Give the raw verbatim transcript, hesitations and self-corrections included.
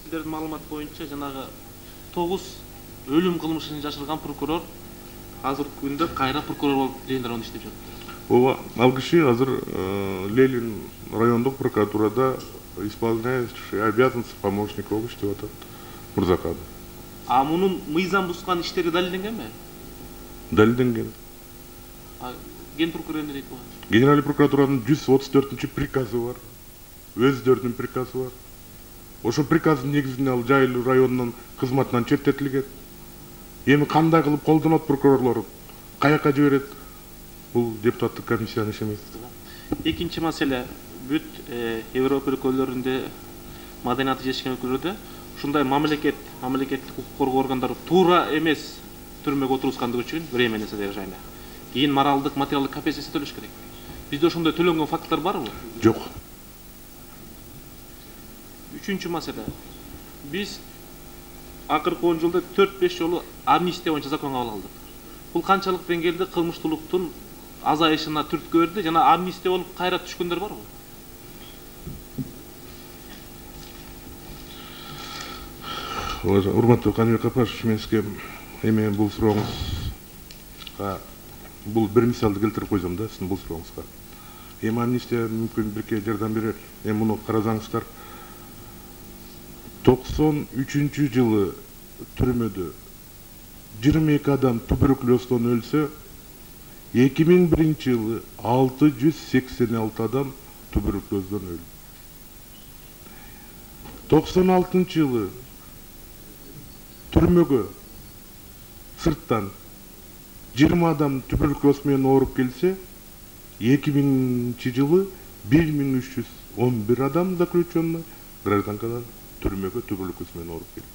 сиздердин маалымат боюнча жанагы тогуз өлүм кылмышын жашырган прокурор азыркы күндө кайра прокурор болуп Ленин районунда иштеп жатат. Ооба, ал киши азыр Ленин райондук прокуратурада исполняющий обязанности помощника болуп иштеп атат. Мурзакан. А мунун мыйзам бускан иштери далилденгенби? Далилденген. А ген прокурор эмне дейт буга? Генеральный прокуратуранын жүз отуз төртүнчү приказы бар. Өздөрүнүн приказы бар. Ошо приказдын негизинде ал жайлуу районунун кызматынан четтетилген. Эми кандай кылып колдонот прокурорлор? Каяка жиберет? Бул депутаттык комиссиянын иши эмес. Экинчи маселе, бүт Европа өлкөлөрүндө, маданияты жетишкен өлкөлөрдө ушундай мамлекет, мамлекеттик укук коргоо органдары туура эмес түрмөгө отургузгандыгы үчүн временное содержание. Кийин моралдык, материалдык компенсация төлөш керек. Бизде ошондой төлөнгөн факттар барбы? Жок. Үчүнчү маселе. Биз акыркы он жылда төрт беш жолу амнистия боюнча закон кабыл алдык. Бул канчалык деңгээлде кылмыштуулуктун азайышына түрткү берди жана амнистия болуп кайра түшкөндөр барбы? Урматтуу Каныбек Капашевич, мен сизге эми бул сурооңузга бул бир мисалды келтирип койсом да, сиздин бул сурооңузга. Эми амнистия мүмкүн бирке жардам берер. Эми муну карасаңыздар, токсон үчүнчү жылы түрмөдө жыйырма эки адам туберкулездон өлсө, эки миң биринчи жылы алты жүз сексен алты адам туберкулездон өлдү. токсон алтынчы жылы түрмөгө сырттан жыйырма адам туберкулез менен ооруп келсе, эки миңинчи жылы бир миң үч жүз он бир адам заключенный гражданкадан түрмөгө туберкулез менен ооруп келди.